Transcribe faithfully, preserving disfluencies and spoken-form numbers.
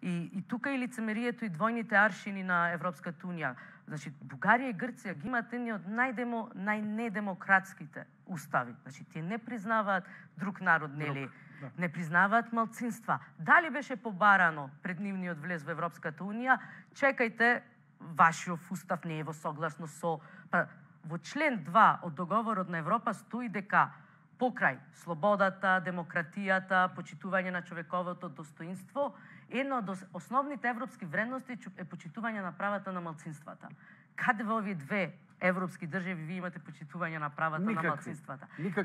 И, и тука и лицемерието и двојните аршини на Европската унија. Значи, Бугарија и Грција ги имаат едни од најдемо, најнедемократските устави. Значи, тие не признаваат друг народ, нели? Да. Не признаваат малцинства. Дали беше побарано пред нивниот влез во Европската унија? Чекајте, вашиот устав не е во согласно со... Па, во член два од договорот на Европа стои дека покрај слободата, демократијата, почитување на човековото достоинство, една од основните европски вредности е почитување на правата на малцинствата. Каде во овие две европски држави ви имате почитување на правата Никакви. на малцинствата? Никакви.